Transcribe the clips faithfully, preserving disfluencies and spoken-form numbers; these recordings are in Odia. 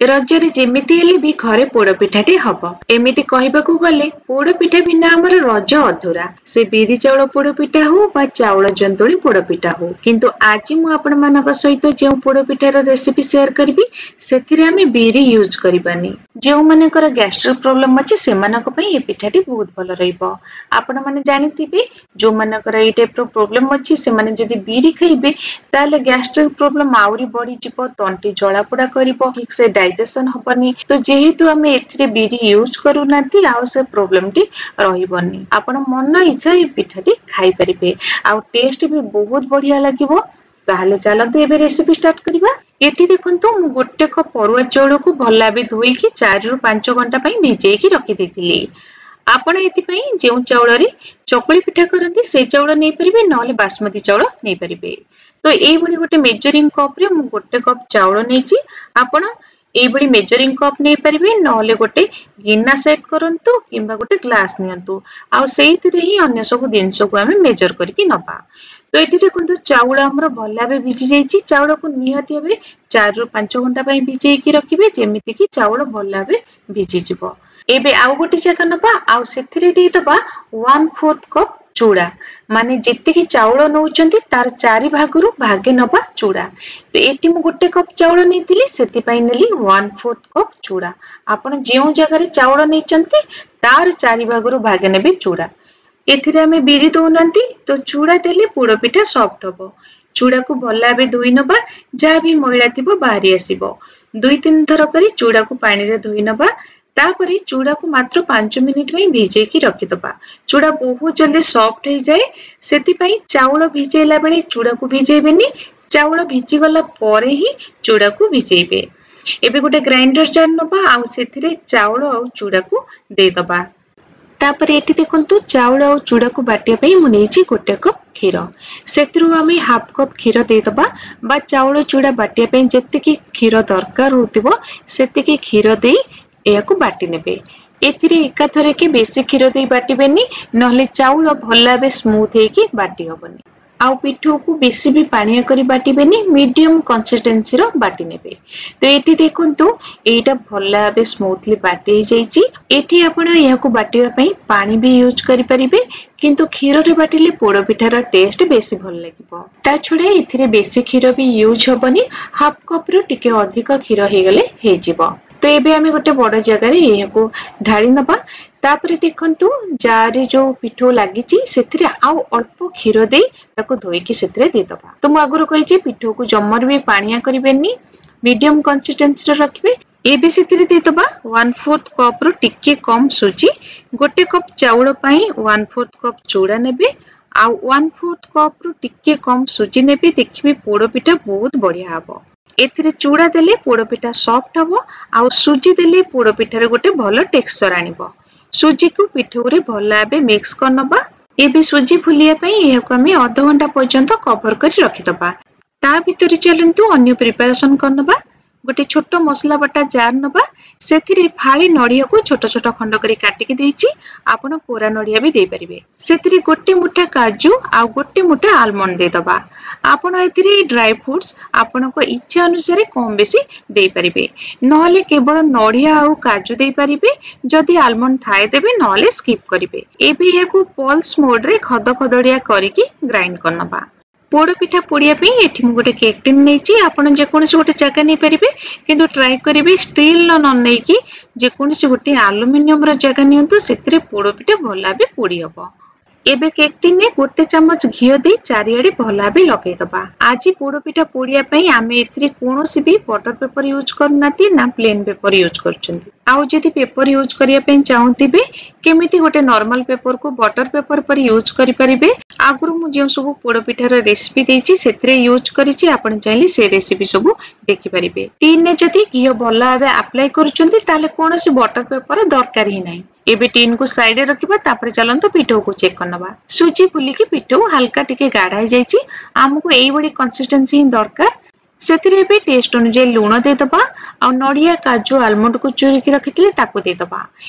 ରଜରେ ଯେମିତି ହେଲେ ବି ଘରେ ପୋଡ଼ପିଠାଟି ହବ। ଏମିତି କହିବାକୁ ଗଲେ ପୋଡ଼ପିଠା ବିନା ଆମର ରଜ ଅଧୁରା। ସେ ବିରି ଚାଉଳ ପୋଡ଼ପିଠା ହଉ ବା ଚାଉଳ ଜନ୍ତୁଳି ପୋଡ଼ପିଠା ହଉ, କିନ୍ତୁ ଆଜି ମୁଁ ଆପଣମାନଙ୍କ ସହିତ ଯେଉଁ ପୋଡ଼ପିଠାର ରେସିପି ସେୟାର କରିବି ସେଥିରେ ଆମେ ବିରି ୟୁଜ୍ କରିବାନି। ଯେଉଁମାନଙ୍କର ଗ୍ୟାଷ୍ଟ୍ରିକ୍ ପ୍ରୋବ୍ଲେମ ଅଛି ସେମାନଙ୍କ ପାଇଁ ଏ ପିଠାଟି ବହୁତ ଭଲ ରହିବ। ଆପଣମାନେ ଜାଣିଥିବେ, ଯେଉଁମାନଙ୍କର ଏଇ ଟାଇପର ପ୍ରୋବ୍ଲେମ ଅଛି ସେମାନେ ଯଦି ବିରି ଖାଇବେ ତାହେଲେ ଗ୍ୟାଷ୍ଟ୍ରିକ୍ ପ୍ରୋବ୍ଲେମ ଆହୁରି ବଢିଯିବ, ତଣ୍ଟି ଜଳାପୋଡ଼ା କରିବ, ଠିକ ସେ ଡାଇଜେସନ ହବନି। ତ ଯେହେତୁ ଆମେ ଏଥିରେ ବିରି ୟୁଜ୍ କରୁନାହାନ୍ତି, ଆଉ ସେ ପ୍ରୋବ୍ଲେମଟି ରହିବନି। ଆପଣ ମନ ଇଚ୍ଛା ଏଇ ପିଠାଟି ଖାଇପାରିବେ ଆଉ ଟେଷ୍ଟ ବି ବହୁତ ବଢିଆ ଲାଗିବ। ତାହେଲେ ଚାଲନ୍ତୁ ଏବେ ରେସିପି ଷ୍ଟାର୍ଟ କରିବା। ଏଠି ଦେଖନ୍ତୁ, ମୁଁ ଗୋଟେ କପ୍ ଅରୁଆ ଚାଉଳକୁ ଭଲ ଭାବେ ଧୋଇକି ଚାରିରୁ ପାଞ୍ଚ ଘଣ୍ଟା ପାଇଁ ଭିଜେଇକି ରଖିଦେଇଥିଲି। ଆପଣ ଏଥିପାଇଁ ଯେଉଁ ଚାଉଳରେ ଚକୁଳି ପିଠା କରନ୍ତି ସେ ଚାଉଳ ନେଇପାରିବେ, ନହେଲେ ବାସୁମତୀ ଚାଉଳ ନେଇପାରିବେ। ତ ଏଇଭଳି ଗୋଟେ ମେଜରିଂ କପରେ ମୁଁ ଗୋଟେ କପ୍ ଚାଉଳ ନେଇଛି। ଆପଣ ଏଇଭଳି ମେଜରିଂ କପ୍ ନେଇପାରିବେ, ନହେଲେ ଗୋଟେ ଗିନା ସେଟ୍ କରନ୍ତୁ କିମ୍ବା ଗୋଟେ ଗ୍ଲାସ୍ ନିଅନ୍ତୁ, ଆଉ ସେଇଥିରେ ହିଁ ଅନ୍ୟ ସବୁ ଜିନିଷକୁ ଆମେ ମେଜର କରିକି ନବା। ତ ଏଠି ଦେଖନ୍ତୁ, ଚାଉଳ ଆମର ଭଲ ଭାବେ ଭିଜି ଯାଇଛି। ଚାଉଳକୁ ନିହାତି ଭାବେ ଚାରିରୁ ପାଞ୍ଚ ଘଣ୍ଟା ପାଇଁ ଭିଜେଇକି ରଖିବେ, ଯେମିତିକି ଚାଉଳ ଭଲ ଭାବେ ଭିଜିଯିବ। ଏବେ ଆଉ ଗୋଟେ ଜାଗା ନବା ଆଉ ସେଥିରେ ଦେଇଦବା ୱାନ୍ ଫୋର୍ଥ କପ୍ ଚୁଡ଼ା, ମାନେ ଯେତିକି ଚାଉଳ ନଉଛନ୍ତି ତାର ଚାରି ଭାଗରୁ ଭାଗେ ନବା ଚୁଡ଼ା। ତ ଏଠି ମୁଁ ଗୋଟେ କପ୍ ଚାଉଳ ନେଇଥିଲି, ସେଥିପାଇଁ ନେଲି ୱାନ୍ ଫୋର୍ଥ କପ୍ ଚୁଡ଼ା। ଆପଣ ଯେଉଁ ଜାଗାରେ ଚାଉଳ ନେଇଛନ୍ତି ତାର ଚାରି ଭାଗରୁ ଭାଗେ ନେବେ ଚୁଡ଼ା। ଏଥିରେ ଆମେ ବିରି ଦଉନାହାନ୍ତି, ତ ଚୁଡ଼ା ଦେଲେ ପୋଡ଼ ପିଠା ସଫ୍ଟ ହବ। ଚୁଡ଼ାକୁ ଭଲ ଭାବେ ଧୋଇ ନବା, ଯାହା ବି ମଇଳା ଥିବ ବାହାରି ଆସିବ। ଦୁଇ ତିନି ଥର କରି ଚୁଡ଼ାକୁ ପାଣିରେ ଧୋଇ ନବା। ତାପରେ ଚୁଡ଼ାକୁ ମାତ୍ର ପାଞ୍ଚ ମିନିଟ ପାଇଁ ଭିଜେଇକି ରଖିଦବା। ଚୁଡ଼ା ବହୁତ ଜଲ୍ଦି ସଫ୍ଟ ହେଇଯାଏ, ସେଥିପାଇଁ ଚାଉଳ ଭିଜେଇଲା ବେଳେ ଚୁଡ଼ାକୁ ଭିଜେଇବେନି, ଚାଉଳ ଭିଜିଗଲା ପରେ ହିଁ ଚୁଡ଼ାକୁ ଭିଜେଇବେ। ଏବେ ଗୋଟେ ଗ୍ରାଇଣ୍ଡର ଜାର ନବା ଆଉ ସେଥିରେ ଚାଉଳ ଆଉ ଚୁଡ଼ାକୁ ଦେଇଦବା। ତାପରେ ଏଠି ଦେଖନ୍ତୁ, ଚାଉଳ ଆଉ ଚୁଡ଼ାକୁ ବାଟିବା ପାଇଁ ମୁଁ ନେଇଛି ଗୋଟେ କପ୍ କ୍ଷୀର। ସେଥିରୁ ଆମେ ହାଫ୍ କପ୍ କ୍ଷୀର ଦେଇଦବା, ବା ଚାଉଳ ଚୁଡ଼ା ବାଟିବା ପାଇଁ ଯେତିକି କ୍ଷୀର ଦରକାର ହଉଥିବ ସେତିକି କ୍ଷୀର ଦେଇ ଏହାକୁ ବାଟି ନେବେ। ଏଥିରେ ଏକାଥରକେ ବେଶୀ କ୍ଷୀର ଦେଇ ବାଟିବେନି, ନହେଲେ ଚାଉଳ ଭଲ ଭାବେ ସ୍ମୁଥ ହେଇକି ବାଟି ହବନି। ଆଉ ପିଠଉକୁ ବେଶୀ ବି ପାଣିଆ କରି ବାଟିବେନି, ମିଡିୟମ କନସିଷ୍ଟେନ୍ସିର ବାଟି ନେବେ। ତ ଏଠି ଦେଖନ୍ତୁ, ଏଇଟା ଭଲ ଭାବେ ସ୍ମୁଥଲି ବାଟି ହେଇଯାଇଛି। ଏଠି ଆପଣ ଏହାକୁ ବାଟିବା ପାଇଁ ପାଣି ବି ୟୁଜ୍ କରିପାରିବେ, କିନ୍ତୁ କ୍ଷୀରରେ ବାଟିଲେ ପୋଡ଼ ପିଠାର ଟେଷ୍ଟ ବେଶୀ ଭଲ ଲାଗିବ। ତା ଛଡ଼ା ଏଥିରେ ବେଶୀ କ୍ଷୀର ବି ୟୁଜ୍ ହବନି, ହାଫ୍ କପ୍ରୁ ଟିକେ ଅଧିକ କ୍ଷୀର ହେଇଗଲେ ହେଇଯିବ। ତ ଏବେ ଆମେ ଗୋଟେ ବଡ଼ ଜାଗାରେ ଏହାକୁ ଢାଳି ନବା। ତାପରେ ଦେଖନ୍ତୁ, ଜାରେ ଯୋଉ ପିଠଉ ଲାଗିଛି ସେଥିରେ ଆଉ ଅଳ୍ପ କ୍ଷୀର ଦେଇ ତାକୁ ଧୋଇକି ସେଥିରେ ଦେଇଦବା। ତ ମୁଁ ଆଗରୁ କହିଛି, ପିଠଉକୁ ଜମାରୁ ବି ପାଣିଆ କରିବେନି, ମିଡିୟମ କନସିଷ୍ଟେନ୍ସିର ରଖିବେ। ଏବେ ସେଥିରେ ଦେଇଦବା ୱାନ୍ ଫୋର୍ଥ କପ୍ରୁ ଟିକେ କମ୍ ସୁଜି। ଗୋଟେ କପ୍ ଚାଉଳ ପାଇଁ ୱାନ୍ ଫୋର୍ଥ କପ୍ ଚୁଡ଼ା ନେବେ ଆଉ ୱାନ୍ ଫୋର୍ଥ କପ୍ରୁ ଟିକେ କମ୍ ସୁଜି ନେବେ, ଦେଖିବେ ପୋଡ଼ ପିଠା ବହୁତ ବଢିଆ ହବ। ଏଥିରେ ଚୁଡ଼ା ଦେଲେ ପୋଡ଼ପିଠା ସଫ୍ଟ ହବ ଆଉ ସୁଜି ଦେଲେ ପୋଡ଼ପିଠାରେ ଗୋଟେ ଭଲ ଟେକ୍ସଚର ଆଣିବ। ସୁଜିକୁ ପିଠଉରେ ଭଲ ଭାବେ ମିକ୍ସ କରିନବା। ଏବେ ସୁଜି ଫୁଲିବା ପାଇଁ ଏହାକୁ ଆମେ ଅଧଘଣ୍ଟା ପର୍ଯ୍ୟନ୍ତ କଭର କରି ରଖିଦବା। ତା ଭିତରେ ଚାଲନ୍ତୁ ଅନ୍ୟ ପ୍ରିପାରେସନ କରିନବା। ଗୋଟେ ଛୋଟ ମସଲା ବଟା ଜାର ନବା, ସେଥିରେ ଫାଳେ ନଡ଼ିଆକୁ ଛୋଟ ଛୋଟ ଖଣ୍ଡ କରି କାଟିକି ଦେଇଛି, ଆପଣ କୋରା ନଡ଼ିଆ ବି ଦେଇପାରିବେ। ସେଥିରେ ଗୋଟେ ମୁଠା କାଜୁ ଆଉ ଗୋଟେ ମୁଠା ଆଲମଣ୍ଡ ଦେଇଦବା। ଆପଣ ଏଥିରେ ଡ୍ରାଇ ଫ୍ରୁଟ୍ସ ଆପଣଙ୍କ ଇଚ୍ଛା ଅନୁସାରେ କମ ବେଶୀ ଦେଇପାରିବେ, ନହେଲେ କେବଳ ନଡ଼ିଆ ଆଉ କାଜୁ ଦେଇପାରିବେ। ଯଦି ଆଲମଣ୍ଡ ଥାଏ ଦେବେ, ନହେଲେ ସ୍କିପ୍ କରିବେ। ଏବେ ଏହାକୁ ପଲ୍ସ ମୋଡରେ ଖଦ ଖଦଡ଼ିଆ କରିକି ଗ୍ରାଇଣ୍ଡ କରିନବା। ପୋଡ଼ ପିଠା ପୋଡ଼ିବା ପାଇଁ ଏଠି ମୁଁ ଗୋଟେ କେକ୍ ଟିନ୍ ନେଇଛି। ଆପଣ ଯେକୌଣସି ଗୋଟେ ଜାଗା ନେଇପାରିବେ, କିନ୍ତୁ ଟ୍ରାଏ କରିବେ ଷ୍ଟିଲର ନ ନେଇକି ଯେକୌଣସି ଗୋଟେ ଆଲୁମିନିୟମର ଜାଗା ନିଅନ୍ତୁ, ସେଥିରେ ପୋଡ଼ ପିଠା ଭଲ ଭାବେ ପୋଡ଼ି ହବ। ଏବେ କେକ୍ ଟିନରେ ଗୋଟେ ଚାମଚ ଘିଅ ଦେଇ ଚାରିଆଡେ ଭଲ ଭାବେ ଲଗେଇଦବା। ଆଜି ପୋଡ଼ ପିଠା ପୋଡ଼ିବା ପାଇଁ ଆମେ ଏଥିରେ କୌଣସି ବି ବଟର ପେପର ୟୁଜ୍ କରୁନାହାନ୍ତି, ନା ପ୍ଲେନ୍ ପେପର ୟୁଜ୍ କରୁଛନ୍ତି। ଆଉ ଯଦି ପେପର ୟୁଜ୍ କରିବା ପାଇଁ ଚାହୁଁଥିବେ, କେମିତି ଗୋଟେ ନର୍ମାଲ ପେପରକୁ ବଟର ପେପର ପରି ୟୁଜ୍ କରିପାରିବେ, ଆଗରୁ ମୁଁ ଯେଉଁ ସବୁ ପୋଡ଼ ପିଠାର ରେସିପି ଦେଇଛି ସେଥିରେ ୟୁଜ୍ କରିଛି, ଆପଣ ଚାହିଁଲେ ସେ ରେସିପି ସବୁ ଦେଖିପାରିବେ। ଟିନରେ ଯଦି ଘିଅ ଭଲ ଭାବେ ଆପ୍ଲାଏ କରୁଛନ୍ତି ତାହେଲେ କୌଣସି ବଟର ପେପର ଦରକାର ହିଁ ନାହିଁ। ଏବେ ଟିନକୁ ସାଇଡରେ ରଖିବା। ତାପରେ ଚାଲନ୍ତୁ ପିଠଉକୁ ଚେକ୍ କରିନବା। ସୁଜି ଫୁଲିକି ପିଠଉ ହାଲକା ଟିକେ ଗାଢା ହେଇଯାଇଛି। ଆମକୁ ଏଇଭଳି କନସିଷ୍ଟେନ୍ସି ହିଁ ଦରକାର। ସେଥିରେ ଏବେ ଟେଷ୍ଟ ଅନୁଯାୟୀ ଲୁଣ ଦେଇଦେବା ଆଉ ନଡ଼ିଆ, କାଜୁ, ଆଲମଣ୍ଡକୁ ଚୁରିକି ରଖିଥିଲେ ତାକୁ ଦେଇଦେବା।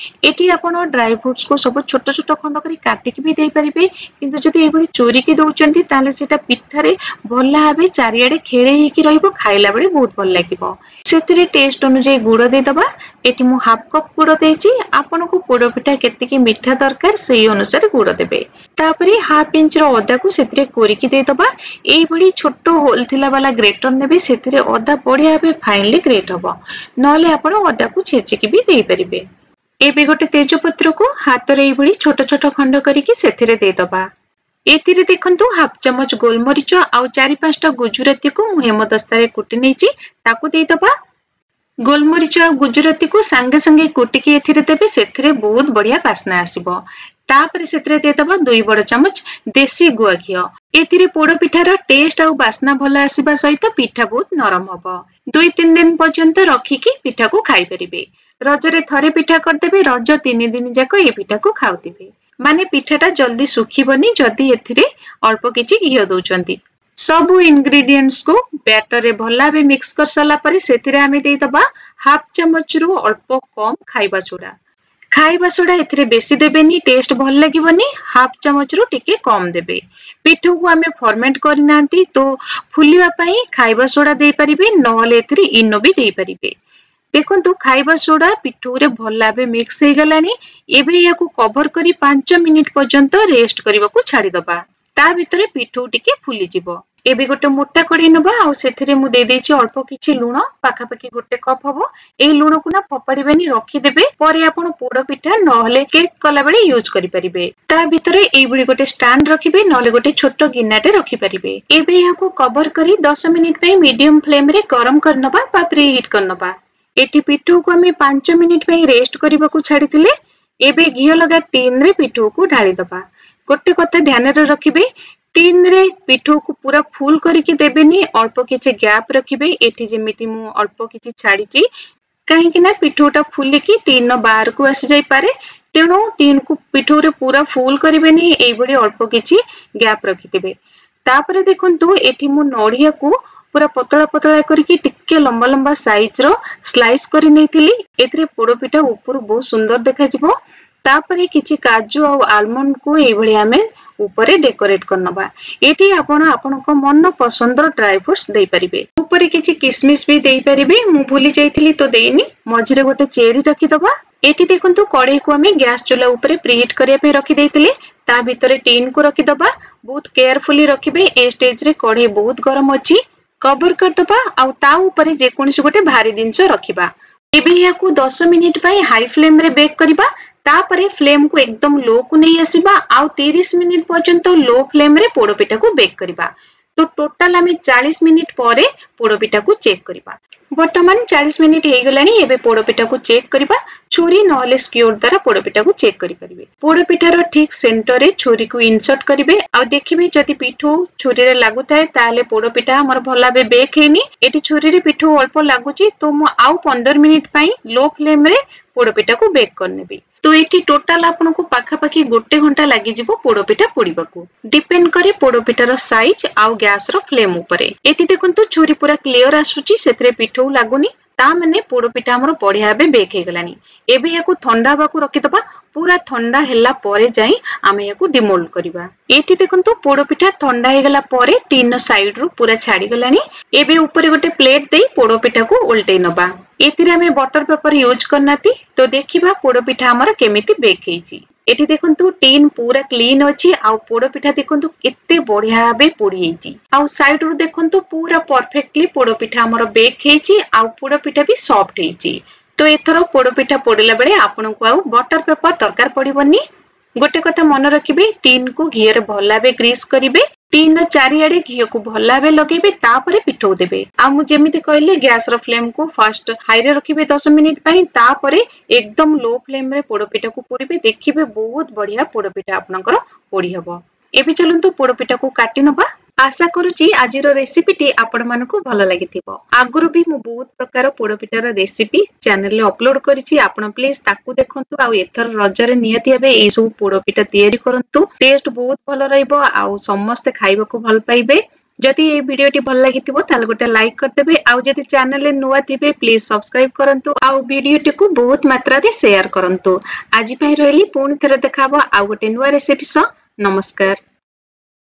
ଏଠି ଆପଣ ଡ୍ରାଇ ଫ୍ରୁଟ୍ସକୁ ସବୁ ଛୋଟ ଛୋଟ ଖଣ୍ଡ କରି କାଟିକି ବି ଦେଇପାରିବେ, କିନ୍ତୁ ଯଦି ଏଇଭଳି ଚୁରିକି ଦେଉଛନ୍ତି ତାହେଲେ ସେଇଟା ପିଠାରେ ଭଲ ଭାବେ ଚାରିଆଡ଼େ ଖେଳେଇ ହେଇକି ରହିବ, ଖାଇଲା ବେଳେ ବହୁତ ଭଲ ଲାଗିବ। ସେଥିରେ ଟେଷ୍ଟ ଅନୁଯାୟୀ ଗୁଡ଼ ଦେଇଦେବା। ଏଠି ମୁଁ ହାଫ୍ କପ୍ ଗୁଡ଼ ଦେଇଛି। ଆପଣଙ୍କୁ ପୋଡ଼ ପିଠା କେତିକି ମିଠା ଦରକାର ସେଇ ଅନୁସାରେ ଗୁଡ଼ ଦେବେ। ତାପରେ ହାଫ୍ ଇଞ୍ଚର ଅଦାକୁ ସେଥିରେ କୋରିକି ଦେଇଦେବା। ଏଇଭଳି ଛୋଟ ହୋଲ୍ ଥିଲା ବାଲା ଗ୍ରେଟର ନେବେ, ସେଥିରେ ଅଦା ବଢ଼ିଆ ଭାବେ ଫାଇନଲି ଗ୍ରେଟ୍ ହବ। ନହେଲେ ଆପଣ ଅଦାକୁ ଛେଚିକି ବି ଦେଇପାରିବେ। ଏବେ ଗୋଟେ ତେଜପତ୍ରକୁ ହାତରେ ଏଇଭଳି ଛୋଟ ଛୋଟ ଖଣ୍ଡ କରିକି ସେଥିରେ ଦେଇଦେବା। ଏଥିରେ ଦେଖନ୍ତୁ ହାଫ୍ ଚାମଚ ଗୋଲମରିଚ ଆଉ ଚାରି ପାଞ୍ଚଟା ଗୁଜୁରାତିକୁ ମୁଁ ହେମଦସ୍ତାରେ କୁଟି ନେଇଛି, ତାକୁ ଦେଇଦେବା। ଗୋଲମରିଚ ଆଉ ଗୁଜୁରାତିକୁ ସାଙ୍ଗେ ସାଙ୍ଗେ କୁଟିକି ଏଥିରେ ଦେବେ, ସେଥିରେ ବହୁତ ବଢିଆ ବାସ୍ନା ଆସିବ। ତାପରେ ସେଥିରେ ଦେଇଦେବା ଦୁଇ ବଡ ଚାମଚ ଦେଶୀ ଗୁଆ ଘିଅ। ଏଥିରେ ପୋଡ ପିଠାର ଟେଷ୍ଟ ଆଉ ବାସ୍ନା ଭଲ ଆସିବା ସହିତ ପିଠା ବହୁତ ନରମ ହବ। ଦୁଇ ତିନି ଦିନ ପର୍ଯ୍ୟନ୍ତ ରଖିକି ପିଠାକୁ ଖାଇପାରିବେ। ରଜରେ ଥରେ ପିଠା କରିଦେବେ, ରଜ ତିନି ଦିନ ଯାକ ଏ ପିଠାକୁ ଖାଉଥିବେ। ମାନେ ପିଠାଟା ଜଲ୍ଦି ଶୁଖିବନି ଯଦି ଏଥିରେ ଅଳ୍ପ କିଛି ଘିଅ ଦଉଛନ୍ତି। ସବୁ ଇନଗ୍ରିଡିଏଣ୍ଟସକୁ ବ୍ୟାଟରରେ ଭଲ ଭାବେ ମିକ୍ସ କରିସାରିଲା ପରେ ସେଥିରେ ଆମେ ଦେଇଦେବା ହାଫ୍ ଚାମଚରୁ ଅଳ୍ପ କମ୍ ଖାଇବା ସୋଡା। ଖାଇବା ସୋଡା ଏଥିରେ ବେଶୀ ଦେବେନି, ଟେଷ୍ଟ ଭଲ ଲାଗିବନି। ହାଫ୍ ଚାମଚରୁ ଟିକେ କମ୍ ଦେବେ। ପିଠକୁ ଆମେ ଫର୍ମେଣ୍ଟ କରିନାହାନ୍ତି, ତ ଫୁଲିବା ପାଇଁ ଖାଇବା ସୋଡା ଦେଇପାରିବେ, ନହେଲେ ଏଥିରେ ଇନୋ ବି ଦେଇପାରିବେ। ଦେଖନ୍ତୁ ଖାଇବା ସୋଡା ପିଠଉରେ ଭଲ ଭାବେ ମିକ୍ସ ହେଇଗଲାଣି। ଏବେ ଏହାକୁ କଭର କରି ପାଞ୍ଚ ମିନିଟ ପର୍ଯ୍ୟନ୍ତ ରେଷ୍ଟ କରିବାକୁ ଛାଡ଼ିଦବା। ତା ଭିତରେ ପିଠଉ ଟିକେ ଫୁଲିଯିବ। ଏବେ ଗୋଟେ ମୋଟା କଢେଇ ନେବା ଆଉ ସେଥିରେ ମୁଁ ଦେଇଦେଇଛି ଅଳ୍ପ କିଛି ଲୁଣ, ପାଖାପାଖି ଗୋଟେ କପ୍ ହବ। ଏଇ ଲୁଣକୁ ନା ଫୋପାଡ଼ିବେନି, ରଖିଦେବେ, ପରେ ଆପଣ ପୋଡ ପିଠା ନହେଲେ କେକ୍ କଲାବେଳେ ୟୁଜ୍ କରିପାରିବେ। ତା ଭିତରେ ଏଇଭଳି ଗୋଟେ ଷ୍ଟାଣ୍ଡ ରଖିବେ, ନହେଲେ ଗୋଟେ ଛୋଟ ଗିନାଟେ ରଖିପାରିବେ। ଏବେ ଏହାକୁ କଭର କରି ଦଶ ମିନିଟ ପାଇଁ ମିଡିୟମ ଫ୍ଲେମରେ ଗରମ କରିନେବା ବା ପ୍ରି ହିଟ୍ କରିନେବା। ଏଠି ପିଠଉକୁ ଆମେ ପାଞ୍ଚ ମିନିଟ ପାଇଁ ରେଷ୍ଟ କରିବାକୁ ଛାଡ଼ିଥିଲେ। ଏବେ ଘିଅ ଲଗା ଟିନରେ ପିଠଉକୁ ଢାଳିଦବା। ଗୋଟେ କଥା ଧ୍ୟାନରେ ରଖିବେ, ଟିନରେ ପିଠଉକୁ ପୁରା ଫୁଲ କରିକି ଦେବେନି, ଅଳ୍ପ କିଛି ଗ୍ୟାପ୍ ରଖିବେ। ଏଠି ଯେମିତି ମୁଁ ଅଳ୍ପ କିଛି ଛାଡ଼ିଛି, କାହିଁକି ନା ପିଠଉଟା ଫୁଲିକି ଟିନ୍ର ବାହାରକୁ ଆସିଯାଇପାରେ। ତେଣୁ ଟିନ୍କୁ ପିଠଉରେ ପୁରା ଫୁଲ କରିବେନି, ଏଇଭଳି ଅଳ୍ପ କିଛି ଗ୍ୟାପ୍ ରଖିଥିବେ। ତାପରେ ଦେଖନ୍ତୁ ଏଠି ମୁଁ ନଡ଼ିଆକୁ ପୁରା ପତଳା ପତଳା କରିକି ଟିକେ ଲମ୍ବା ଲମ୍ବା ସାଇଜର ସ୍ଲାଇସ୍ କରି ନେଇଥିଲି। ଏଥିରେ ପୋଡ ପିଠା ଉପରୁ ବହୁତ ସୁନ୍ଦର ଦେଖାଯିବ। ତାପରେ କିଛି କାଜୁ ଆଉ ଆଲମଣ୍ଡକୁ ଏଇଭଳି ଆମେ ଉପରେ ଡେକୋରେଟ କରିନବା। ଏଠି ଆପଣ ଆପଣଙ୍କ ମନ ପସନ୍ଦର ଡ୍ରାଇ ଫ୍ରୁଟ୍ସ ଦେଇପାରିବେ। ଉପରେ କିଛି କିସମିସ ବି ଦେଇପାରିବେ, ମୁଁ ଭୁଲି ଯାଇଥିଲି ତ ଦେଇନି। ମଝିରେ ଗୋଟେ ଚେରି ରଖିଦବା। ଏଠି ଦେଖନ୍ତୁ କଢେଇକୁ ଆମେ ଗ୍ୟାସ ଚୁଲା ଉପରେ ପ୍ରିହିଟ୍ କରିବା ପାଇଁ ରଖିଦେଇଥିଲେ। ତା ଭିତରେ ଟିନ୍କୁ ରଖିଦବା। ବହୁତ କେୟାରଫୁଲି ରଖିବେ, ଏ ଷ୍ଟେଜରେ କଢେଇ ବହୁତ ଗରମ ଅଛି। କଭର କରିଦବା ଆଉ ତା ଉପରେ ଯେକୌଣସି ଗୋଟେ ଭାରି ଜିନିଷ ରଖିବା। ଏବେ ଏହାକୁ ଦଶ ମିନିଟ ପାଇଁ ହାଇ ଫ୍ଲେମରେ ବେକ୍ କରିବା। ତାପରେ ଫ୍ଲେମକୁ ଏକଦମ ଲୋ କୁ ନେଇ ଆସିବା ଆଉ ତିରିଶ ମିନିଟ ପର୍ଯ୍ୟନ୍ତ ଲୋ ଫ୍ଲେମରେ ପୋଡ ପିଠାକୁ ବେକ୍ କରିବା। ତ ଟୋଟାଲ ଆମେ ଚାଳିଶ ମିନିଟ ପରେ ପୋଡ ପିଠାକୁ ଚେକ୍ କରିବା। ବର୍ତ୍ତମାନ ଚାଳିଶ ମିନିଟ ହେଇଗଲାଣି। ଏବେ ପୋଡ ପିଠାକୁ ଚେକ୍ କରିବା। ଛୁରୀ ନହେଲେ ସ୍କିଓର ଦ୍ୱାରା ପୋଡ ପିଠାକୁ ଚେକ୍ କରିପାରିବେ। ପୋଡ ପିଠାର ଠିକ ସେଣ୍ଟରରେ ଛୁରୀକୁ ଇନସର୍ଟ କରିବେ ଆଉ ଦେଖିବେ ଯଦି ପିଠଉ ଛୁରୀରେ ଲାଗୁଥାଏ ତାହେଲେ ପୋଡ ପିଠା ଆମର ଭଲ ଭାବେ ବେକ୍ ହେଇନି। ଏଠି ଛୁରୀରେ ପିଠଉ ଅଳ୍ପ ଲାଗୁଛି, ତ ମୁଁ ଆଉ ପନ୍ଦର ମିନିଟ ପାଇଁ ଲୋ ଫ୍ଲେମରେ ପୋଡ ପିଠାକୁ ବେକ୍ କରିନେବି। ତ ଏଠି ଟୋଟାଲ ଆପଣଙ୍କୁ ପାଖାପାଖି ଗୋଟେ ଘଣ୍ଟା ଲାଗିଯିବ ପୋଡପିଠା ପୋଡିବାକୁ। ଡିପେଣ୍ଡ କରେ ପୋଡପିଠାର ସାଇଜ ଆଉ ଗ୍ୟାସର ଫ୍ଲେମ ଉପରେ। ଏଠି ଦେଖନ୍ତୁ ଛୁରୀ ପୁରା କ୍ଲିୟର ଆସୁଛି, ସେଥିରେ ପିଠଉ ଲାଗୁନି, ତା ମାନେ ପୋଡପିଠା ଆମର ବଢିଆ ଭାବେ ବେକ୍ ହେଇଗଲାଣି। ଏବେ ଏହାକୁ ଥଣ୍ଡା ହେବାକୁ ରଖିଦବା। ପୁରା ଥଣ୍ଡା ହେଲା ପରେ ଯାଇ ଆମେ ଏହାକୁ ଡିମୋଲ୍ଡ କରିବା। ଏଠି ଦେଖନ୍ତୁ ପୋଡପିଠା ଥଣ୍ଡା ହେଇଗଲା ପରେ ଟିନ୍ ସାଇଡରୁ ପୁରା ଛାଡିଗଲାଣି। ଏବେ ଉପରେ ଗୋଟେ ପ୍ଲେଟ ଦେଇ ପୋଡପିଠାକୁ ଓଲଟେଇ ନବା। ଏଥିରେ ଆମେ ବଟର ପେପର ୟୁଜ୍ କରିନାହାନ୍ତି, ତ ଦେଖିବା ପୋଡପିଠା ଆମର କେମିତି ବେକ୍ ହେଇଛି। ଏଠି ଦେଖନ୍ତୁ ଟିନ୍ ପୁରା କ୍ଲିନ୍ ଅଛି ଆଉ ପୋଡପିଠା ଦେଖନ୍ତୁ କେତେ ବଢିଆ ଭାବେ ପୋଡି ହେଇଛି। ଆଉ ସାଇଡରୁ ଦେଖନ୍ତୁ ପୁରା ପରଫେକ୍ଟଲି ପୋଡପିଠା ଆମର ବେକ୍ ହେଇଛି ଆଉ ପୋଡପିଠା ବି ସଫ୍ଟ ହେଇଛି। ତ ଏଥର ପୋଡପିଠା ପୋଡିଲା ବେଳେ ଆପଣଙ୍କୁ ଆଉ ବଟର ପେପର ଦରକାର ପଡିବନି। ଗୋଟେ କଥା ମନେ ରଖିବେ, ଟିନ୍କୁ ଘିଅରେ ଭଲ ଭାବେ ଗ୍ରୀସ୍ କରିବେ, ଟିନ୍ର ଚାରିଆଡେ ଘିଅକୁ ଭଲ ଭାବେ ଲଗେଇବେ, ତାପରେ ପିଠଉ ଦେବେ। ଆଉ ମୁଁ ଯେମିତି କହିଲି, ଗ୍ୟାସର ଫ୍ଲେମକୁ ଫାଷ୍ଟ ହାଇରେ ରଖିବେ ଦଶ ମିନିଟ ପାଇଁ, ତାପରେ ଏକଦମ ଲୋ ଫ୍ଲେମରେ ପୋଡପିଠାକୁ ପୋଡିବେ। ଦେଖିବେ ବହୁତ ବଢିଆ ପୋଡପିଠା ଆପଣଙ୍କର ପୋଡି ହବ। ଏବେ ଚାଲନ୍ତୁ ପୋଡପିଠାକୁ କାଟି ନବା। ଆଶା କରୁଛି ଆଜିର ରେସିପିଟି ଆପଣମାନଙ୍କୁ ଭଲ ଲାଗିଥିବ। ଆଗରୁ ବି ମୁଁ ବହୁତ ପ୍ରକାର ପୋଡପିଠାର ରେସିପି ଚ୍ୟାନେଲରେ ଅପଲୋଡ କରିଛି, ଆପଣ ପ୍ଲିଜ ତାକୁ ଦେଖନ୍ତୁ। ଆଉ ଏଥର ରଜରେ ନିହାତି ଭାବେ ଏଇ ସବୁ ପୋଡପିଠା ତିଆରି କରନ୍ତୁ, ଟେଷ୍ଟ ବହୁତ ଭଲ ରହିବ ଆଉ ସମସ୍ତେ ଖାଇବାକୁ ଭଲ ପାଇବେ। ଯଦି ଏଇ ଭିଡିଓଟି ଭଲ ଲାଗିଥିବ ତାହେଲେ ଗୋଟେ ଲାଇକ୍ କରିଦେବେ, ଆଉ ଯଦି ଚ୍ୟାନେଲରେ ନୂଆ ଥିବେ ପ୍ଲିଜ ସବସ୍କ୍ରାଇବ କରନ୍ତୁ, ଆଉ ଭିଡିଓଟିକୁ ବହୁତ ମାତ୍ରାରେ ସେୟାର କରନ୍ତୁ। ଆଜି ପାଇଁ ରହିଲି, ପୁଣି ଥରେ ଦେଖା ହବ ଆଉ ଗୋଟେ ନୂଆ ରେସିପି ସହ। ନମସ୍କାର।